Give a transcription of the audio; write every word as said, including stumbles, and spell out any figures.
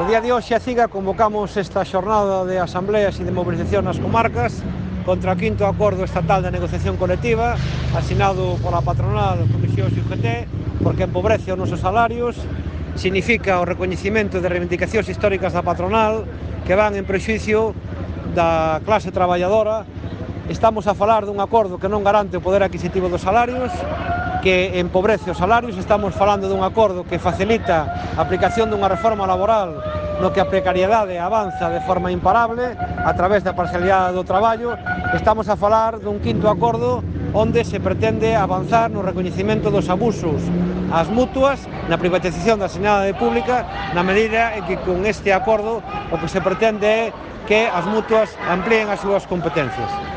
No día de hoxe a CIGA convocamos esta xornada de asambleas e de movilización nas comarcas contra o quinto acordo estatal de negociación colectiva asinado pola patronal Comisión U G T, porque empobrece os nosos salarios, significa o recoñecimento de reivindicacións históricas da patronal que van en prexuicio da clase traballadora. Estamos a falar dun acordo que non garante o poder adquisitivo dos salarios, que empobrece os salarios. Estamos falando dun acordo que facilita a aplicación dunha reforma laboral no que a precariedade avanza de forma imparable a través da parcialidade do traballo. Estamos a falar dun quinto acordo onde se pretende avanzar no recoñecemento dos abusos ás mutuas, na privatización da sanidade pública, na medida en que con este acordo o que se pretende é que as mutuas amplíen as súas competencias.